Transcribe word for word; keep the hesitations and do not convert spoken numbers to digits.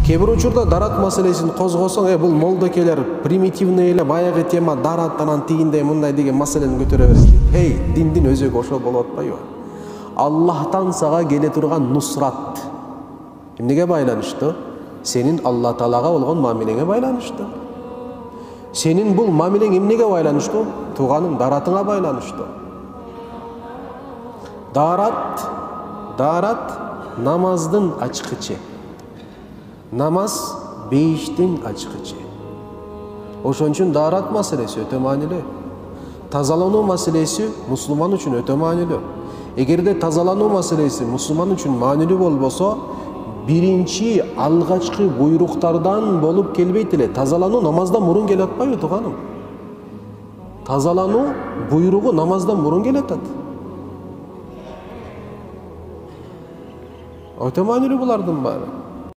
Кээ бир учурда дарат маселесин козгосоң, э бул молдокелер примитивный эле баягы тема дарат анан тигиндей мындай деген маселени көтөрө берет. Эй, диндин өзөгү ошол болуп атпайбы? Аллахтан сага келе турган нусрат эмнеге байланыштуу? Сенин Алла Таалага болгон мамилеңе байланыштуу. Сенин бул мамилең эмнеге байланыштуу? Тууганың даратыңа байланыштуу. Дарат, дарат намаздын ачкычы. Намаз бейиштин ачкычы. Ошон үчүн дарат маселеси өтө маанилүү. Тазалануу маселеси мусулман үчүн өтө маанилүү. Эгерде тазалануу маселеси мусулман үчүн маанилүү болбосо, биринчи алгачкы буйруктардан болуп келбейт эле. Тазалануу намаздан мурун келип атпайбы, тууганым? Тазалануу буйругу намаздан мурун келип атат. Өтө маанилүү булардын баары.